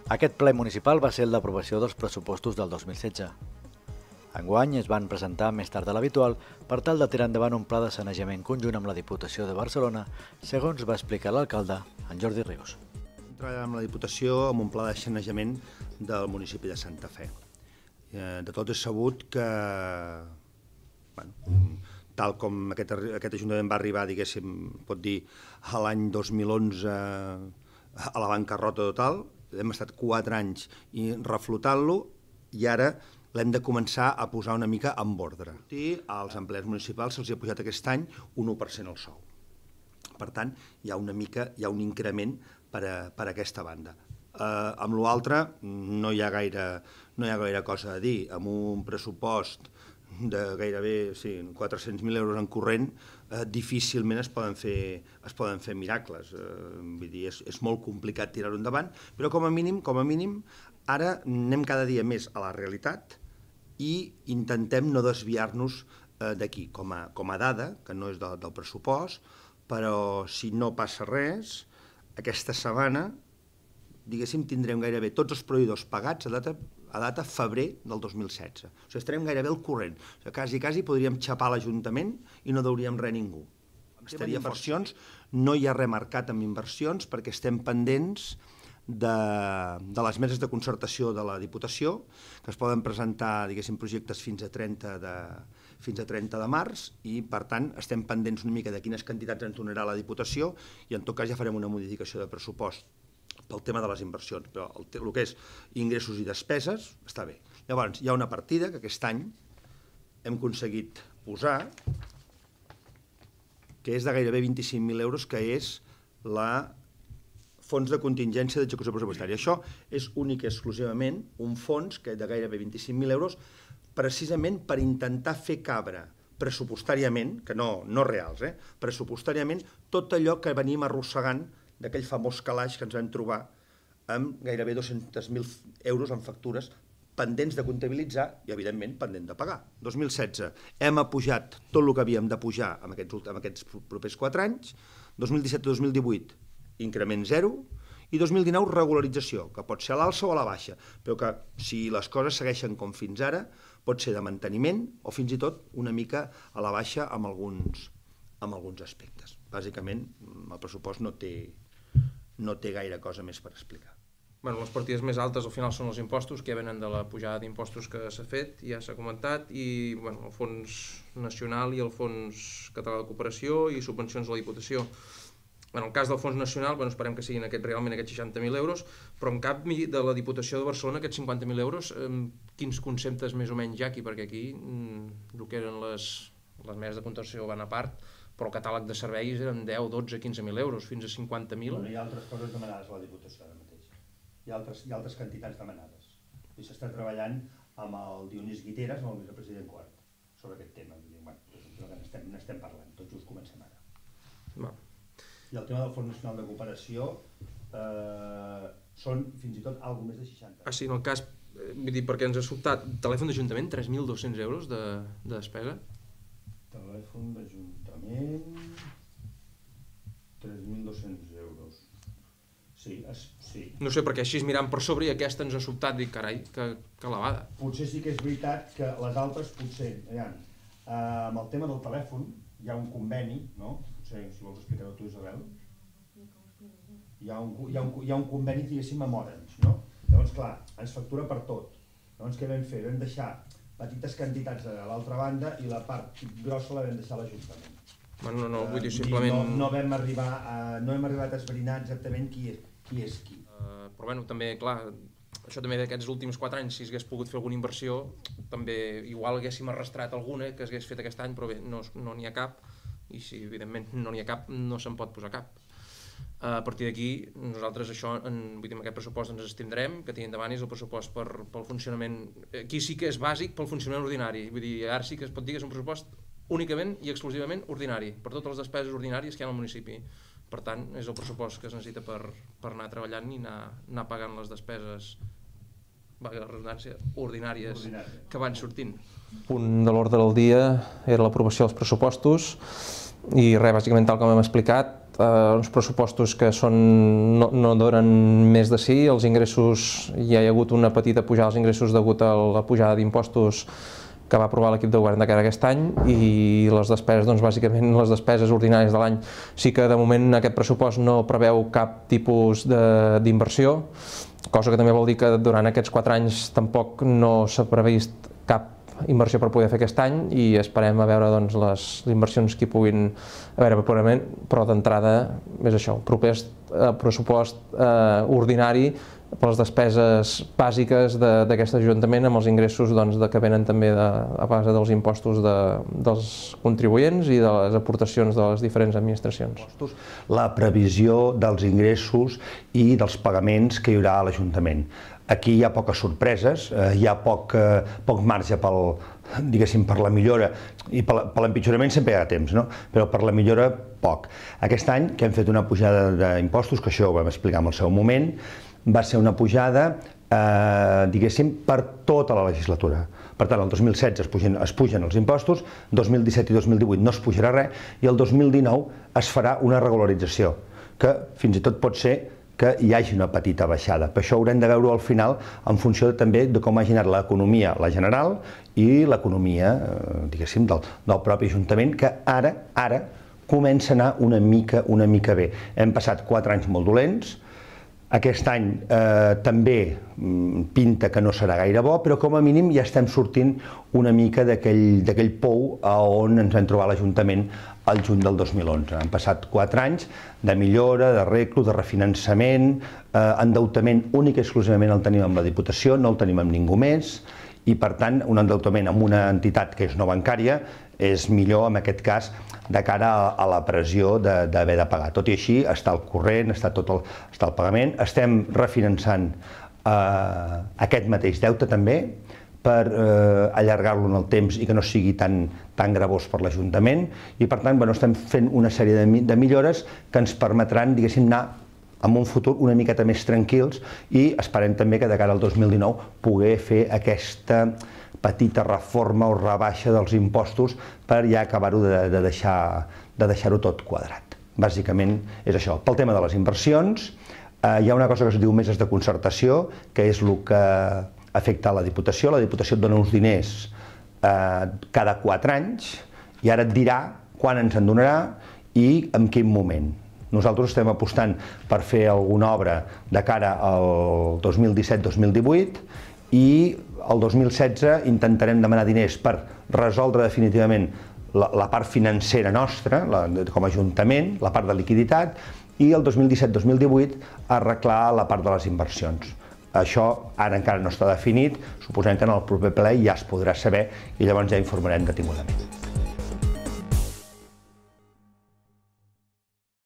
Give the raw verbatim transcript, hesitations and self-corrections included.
Aquest ple municipal va ser el d'aprovació dels pressupostos del dos mil setze. Enguany es van presentar més tard de l'habitual per tal de tirar endavant un pla de sanejament conjunt amb la Diputació de Barcelona, segons va explicar l'alcalde, en Jordi Rius. Treballem amb la Diputació amb un pla de sanejament del municipi de Santa Fe. De tot és sabut que, bueno, tal com aquest, aquest Ajuntament va arribar, diguéssim, pot dir, a l'any dos mil onze a la bancarrota total, hem estat quatre anys reflotant-lo i ara l'hem de començar a posar una mica en ordre. Als empleats municipals se'ls ha pujat aquest any un u per cent el sou. Per tant, hi ha una mica, hi ha un increment per a, per a aquesta banda. Eh, amb l'altre no hi ha gaire, no hi ha gaire cosa a dir. Amb un pressupost de gairebé sí, quatre-cents mil euros en corrent, eh, difícilment es poden fer, es poden fer miracles. Eh, vull dir, és, és molt complicat tirar-ho endavant, però com a mínim, com a mínim, ara anem cada dia més a la realitat i intentem no desviar-nos eh, d'aquí. Com a, com a dada, que no és de, del pressupost, però si no passa res, aquesta setmana, diguéssim, tindrem gairebé tots els proveïdors pagats a data, a data febrer del dos mil setze. O sigui, estarem gairebé al corrent. O sigui, quasi, quasi podríem xapar l'Ajuntament i no deuríem res a ningú. Estaria inversions, no hi ha res marcat amb inversions perquè estem pendents de, de les meses de concertació de la Diputació, que es poden presentar, diguéssim, projectes fins a trenta de, fins a trenta de març i, per tant, estem pendents una mica de quines quantitats ens donarà la Diputació i, en tot cas, ja farem una modificació de pressupost pel tema de les inversions, però el, el que és ingressos i despeses està bé. Llavors, hi ha una partida que aquest any hem aconseguit posar, que és de gairebé vint-i-cinc mil euros, que és la fons de contingència d'execució pressupostària. Això és únic i exclusivament un fons que és de gairebé vint-i-cinc mil euros precisament per intentar fer cabre pressupostàriament, que no, no reals, eh, pressupostàriament, tot allò que venim arrossegant d'aquell famós calaix que ens vam trobar amb gairebé dos-cents mil euros en factures pendents de comptabilitzar i, evidentment, pendent de pagar. dos mil setze hem apujat tot el que havíem de pujar en aquests, en aquests propers quatre anys, dos mil disset dos mil divuit increment zero i dos mil dinou regularització, que pot ser a l'alça o a la baixa, però que si les coses segueixen com fins ara pot ser de manteniment o fins i tot una mica a la baixa amb alguns, amb alguns aspectes. Bàsicament, el pressupost no té, no té gaire cosa més per explicar. Bueno, les partides més altes al final són els impostos, que ja venen de la pujada d'impostos que s'ha fet, ja s'ha comentat, i bueno, el Fons Nacional i el Fons Català de Cooperació i subvencions a la Diputació. En el cas del Fons Nacional, bueno, esperem que siguin aquest, realment aquests seixanta mil euros, però en canvi de la Diputació de Barcelona, aquests cinquanta mil euros, eh, quins conceptes més o menys hi ha aquí? Perquè aquí mm, el que eren les, les meses de contenció van a part, però el catàleg de serveis eren deu, dotze, quinze mil euros, fins a cinquanta mil. Bueno, hi ha altres coses demanades a la Diputació ara mateix. Hi ha altres, hi ha altres quantitats demanades. I s'està treballant amb el Dionís Guiteras, amb el vicepresident Quart, sobre aquest tema. Bueno, n'estem, n'estem parlant, tot just comencem ara. Va. I el tema del Fons Nacional de Cooperació eh, són fins i tot alguna més de seixanta. Ah, sí, en el cas, eh, vull dir, perquè ens ha sobtat, telèfon d'Ajuntament, tres mil dos-cents euros de, de despesa. Telèfon d'Ajuntament, tres mil dos-cents euros. Sí, es, sí. No sé, perquè així mirant per sobre i aquesta ens ha sobtat, dic, carai, que, que elevada. Potser sí que és veritat que les altres potser, aviam, eh, amb el tema del telèfon hi ha un conveni, no? Potser, si vols explicar-ho tu, Isabel. Hi ha un, hi ha un, hi ha un conveni, diguéssim, amb Orange, no? Llavors, clar, ens factura per tot. Llavors, què vam fer? Vam deixar petites quantitats a l'altra banda i la part grossa la vam deixar a l'Ajuntament. Bueno, no, no, vull dir, Uh, simplement... no, no, vam arribar a, no hem arribat a esbrinar exactament qui és qui. És qui. Uh, però bueno, també, clar, això també d'aquests últims quatre anys, si s'hagués pogut fer alguna inversió, també igual haguéssim arrastrat alguna que s'hagués fet aquest any, però bé, no n'hi no ha cap, i si evidentment no n'hi ha cap, no se'n pot posar cap. Uh, a partir d'aquí, nosaltres això, en, vull dir, en aquest pressupost ens estindrem, que tinguin davant és el pressupost per, pel funcionament, aquí sí que és bàsic pel funcionament ordinari, vull dir, ara sí que es pot dir que és un pressupost únicament i exclusivament ordinari, per totes les despeses ordinàries que hi ha al municipi. Per tant, és el pressupost que es necessita per, per anar treballant i anar, anar pagant les despeses, valgui la redundància, ordinàries Ordinària. que van sortint. El punt de l'ordre del dia era l'aprovació dels pressupostos. i res, bàsicament tal com hem explicat, eh, uns pressupostos que són, no, no donen més de sí, els ingressos, ja hi ha hagut una petita pujada dels ingressos degut a la pujada d'impostos que va aprovar l'equip de govern de cara a aquest any, i les despeses, doncs bàsicament les despeses ordinàries de l'any, sí que de moment aquest pressupost no preveu cap tipus d'inversió, cosa que també vol dir que durant aquests quatre anys tampoc no s'ha previst cap inversió per poder fer aquest any, i esperem a veure doncs, les inversions que hi puguin haver purament, però d'entrada és això, proper eh, pressupost eh, ordinari per les despeses bàsiques d'aquest Ajuntament, amb els ingressos doncs, de, que venen també de, a base dels impostos de, dels contribuents i de les aportacions de les diferents administracions. La previsió dels ingressos i dels pagaments que hi haurà a l'Ajuntament. Aquí hi ha poques sorpreses, eh, hi ha poc, eh, poc marge pel, diguéssim, per la millora, i per l'empitjorament sempre hi ha temps, no? Però per la millora poc. Aquest any que hem fet una pujada d'impostos, que això ho vam explicar en el seu moment, va ser una pujada, eh, diguéssim, per tota la legislatura. Per tant, el dos mil setze es pugen, es pugen els impostos, dos mil disset i dos mil divuit no es pujarà res, i el dos mil dinou es farà una regularització, que fins i tot pot ser que hi hagi una petita baixada. Per això haurem de veure al final en funció també de com ha anat l'economia, la general, i l'economia, diguéssim, del, del propi Ajuntament, que ara, ara comença a anar una mica, una mica bé. Hem passat quatre anys molt dolents, aquest any eh, també pinta que no serà gaire bo, però com a mínim ja estem sortint una mica d'aquell pou on ens vam trobar l'Ajuntament al juny del dos mil onze. Han passat quatre anys de millora, de reclo, de refinançament, eh, endeutament únic i exclusivament el tenim amb la Diputació, no el tenim amb ningú més, i per tant un endeutament amb una entitat que és no bancària és millor en aquest cas de cara a, a la pressió d'haver de, de pagar. Tot i així està al corrent, està tot el, està el pagament, estem refinançant eh, aquest mateix deute també per eh, allargar-lo en el temps i que no sigui tan, tan gravós per l'Ajuntament, i per tant bueno, estem fent una sèrie de, de millores que ens permetran, diguéssim, anar en un futur una miqueta més tranquils, i esperem també que de cara al dos mil dinou poder fer aquesta petita reforma o rebaixa dels impostos per ja acabar-ho de, de deixar de deixar-ho tot quadrat. Bàsicament és això. Pel tema de les inversions, eh, hi ha una cosa que es diu meses de concertació, que és el que afecta a la Diputació. La Diputació et dona uns diners eh, cada quatre anys, i ara et dirà quan ens en donarà i en quin moment. Nosaltres estem apostant per fer alguna obra de cara al dos mil disset dos mil divuit, i el dos mil setze intentarem demanar diners per resoldre definitivament la, la part financera nostra, la, com a Ajuntament, la part de liquiditat, i el dos mil disset dos mil divuit arreglar la part de les inversions. Això ara encara no està definit, suposem que en el proper ple ja es podrà saber i llavors ja informarem detingudament.